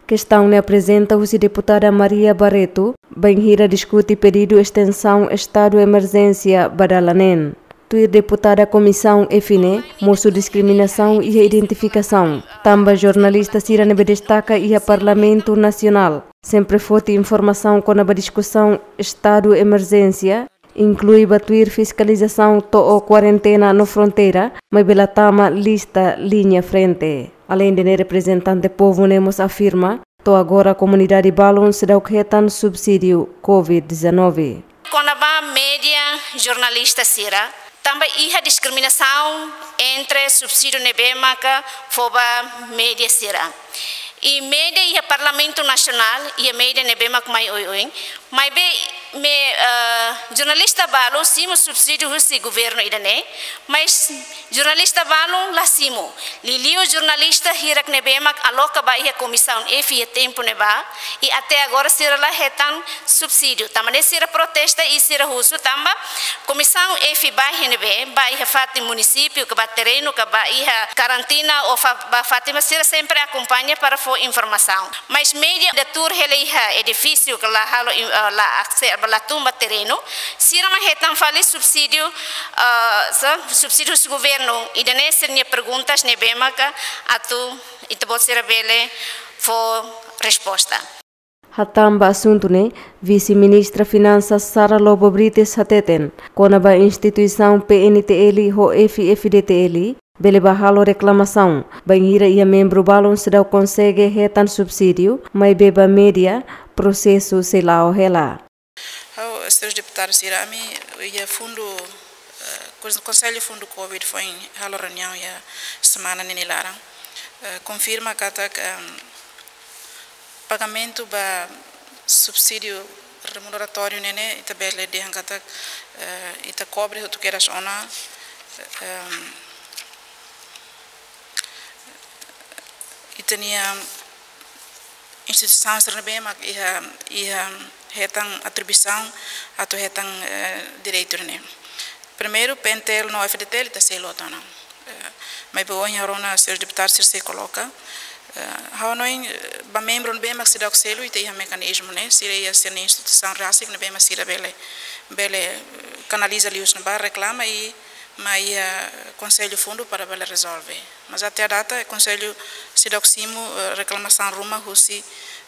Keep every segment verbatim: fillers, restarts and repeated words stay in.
Kestaun ne'e aprezenta husi deputada Maria Barreto, bainhira diskute pedidu estensaun estadu emerjénsia ba dala neen. Tuir deputada Komisaun F ne'e, mosu diskriminasaun iha identifikasaun. Tanba jornalista sira ne'ebé destaka iha Parlamentu Nasionál sempre foti informasaun kona-ba diskusaun estadu emerjénsia, inklui ba tuir fiskalizasaun to'o kuarentena no fronteira, maibé la tama lista liña frente. Aleinde ne'e, reprezentante povu ne'e mós afirma, to'o agora komunidade balun seidauk hetan subsídiu covid dezanove. Kona-ba média, jornalista sira, tanba iha diskriminasaun entre subsídiu ne'ebé maka fó ba média sira. I média iha Parlamentu Nasionál, iha média ne'ebé mak mai oioin, maibé me, eh, jornalista balu simu subsídiu husi governu ida-ne'e, mas jornalista balun la simu. Liuliu jornalista hirak ne'ebé mak aloka ba iha Komisaun F iha tempu ne'ebá, i até agora sira la hetan subsídiu. Tanba ne'e sira protesta i sira husu tanba Komisaun F ba iha ne'ebé, ba iha fatin munisípiu ka ba terrenu ka ba iha karantina ou fa-, ba fatin ne'ebé sira sempre akompaña para fó informasaun. Mas média ida tuur hela iha edifísiu ka la halo in-, eh, la akse-, la tun ba terrenu, sira mak hetan fali subsídiu, eh, sa-, subsídiu husi governu. Ida-ne'e sira-nia perguntas ne'ebé maka atu ita-boot sira bele fó resposta. Hatán ba asuntu ne'e, Vise-Ministra Finansas Sara Lobo Brites hateten, kona-ba instituisaun P N T L ho F F D T L, bele bá halo reklamasaun, bainhira iha membru balun seidauk konsege hetan subsídiu, maibé ba média, prosesu sei la'o hela. Ha'u, senhores deputados sira, ami iha fundu, eh, kons-, Konsellu Fundu covid foin halo reuniaun iha semana ne'e nia laran. Eh, konfirma katak, em, pagamentu ba subsídiu remuneratóriu ne'e, ne'e ita bele dehan katak, eh, ita kobre hotu kedas ona, em, ita-nia instituisaun sira ne'ebé mak iha, iha hetan atribuisaun atu hetan, eh, direitu ne'e. Primeiru, P N T L no F D T L ita selu hotu ona. Eh, maibé ohin ha'u rona senhores deputados sira sei koloka. Eh, ha'u hanoin, eh, ba membru ne'ebé mak seidauk selu ita iha mekanizmu ne'e, sira iha sira-nia instituisaun rasik ne'ebé mak sira bele, bele, eh, kanaliza liuhusi ne'ebá reklama i mai iha Konsellu Fundu para bele rezolve. Mas até à data, Konsellu seidauk simu, eh, reklamasaun ruma husi,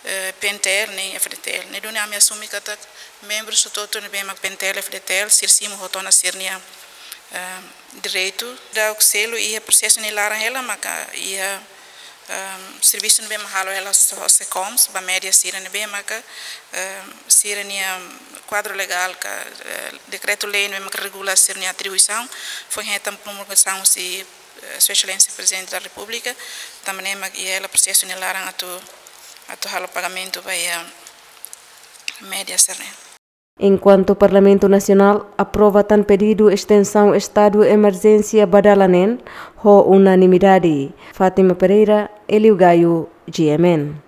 eh, P N T L nem F D T L. Ne'e duni ami asume katak membru hotu-hotu ne'ebé mak P N T L, F D T L, sira simu hotu ona sira-nia, eh, direitu. Daudauk selu iha prosesu nia laran hela maka iha, em, servisu ne'ebé mak halo hela ho SECOMS, ba média sira ne'ebé maka, em, sira-nia kuadru legál ka, eh, dekretu-lei ne'ebé maka regula sira-nia atribuisaun, foin hetan promulgasaun husi, eh, Sua Exelénsia Prezidente da Repúblika, tanba ne'e mak iha hela prosesu nia laran atu, atu halo pagamentu ba iha média sira-ne'e. Enkuantu Parlamentu Nasionál aprova tan pedidu estensaun estadu emerjénsia ba dala neen ho unanimidade. Fátima Pereira, Hélio Gaio, G M N.